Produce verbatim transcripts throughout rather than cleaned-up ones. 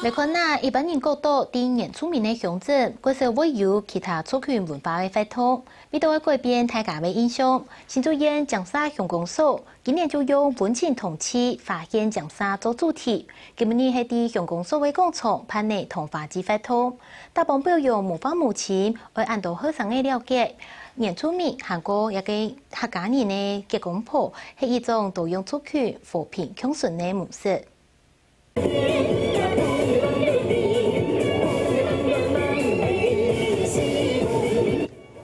來看啊，一般人覺得在原住民个鄉鎮，較少會有其他族群文化个活動。為著愛改變大家个印象，新竹縣尖石鄉公所今年就用溫情童趣發現尖石做主題，今晡日係在鄉公所个廣場辦理桐花節活動，打幫表揚文化母親，愛恁多後生个了解原住民還過這个客家人个結公婆係一種多樣族群和平共存个模式。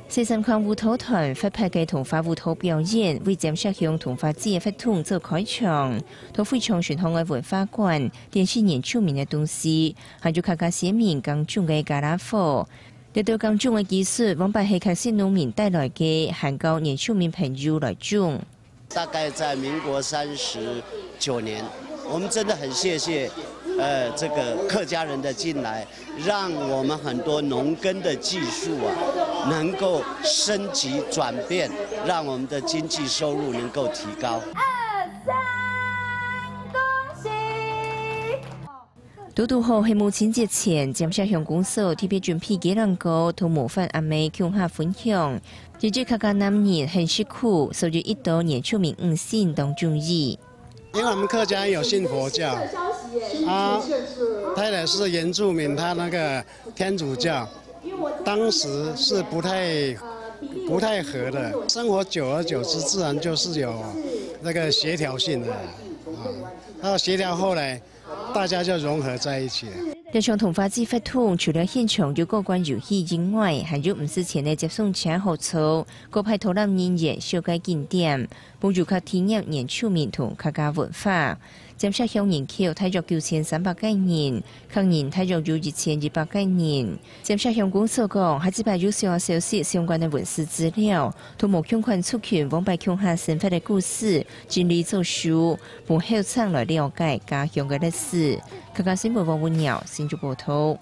西三環舞蹈團活潑个桐花舞蹈表演，為尖石鄉桐花節个活動做開場。在會場巡行个文化館，展示原住民个東西，還有客家先民耕種个軋旯貨。這兜耕種个技術，往擺係客籍農民帶來个，還教原住民朋友來種。 大概在民國三十九年，我們真的很謝謝，呃，這個客家人的進來，讓我們很多農耕的技術啊，能夠升級轉變，讓我們的經濟收入能夠提高。二三，恭喜！ 堵堵好係母親節前，尖石鄉公所特別準備雞卵糕同模範阿姆共下分享。這隻客家男人很食苦，所以一到原住民五辛當中意。因為我們客家人有信佛教，啊，太太是原住民，他那個天主教，當時是不太，不太合的。生活久而久之，自然就是有那個協調性的，啊，那協調後來 大家就融合在一起了。這場桐花節活動除了現場有過關遊戲以外，還有毋使錢个接送車好坐，過派導覽人員紹介景點，分遊客體驗原住民同客家文化。尖石鄉人口大約九千三百個人，客人大約有一千一百個人。尖石鄉公所講，下一擺有想要熟悉相關个文史資料，同無共款族群往擺共下生活个故事，整理做書， 分後生來了解家鄉个歷史。客家新聞王文耀，新竹報導。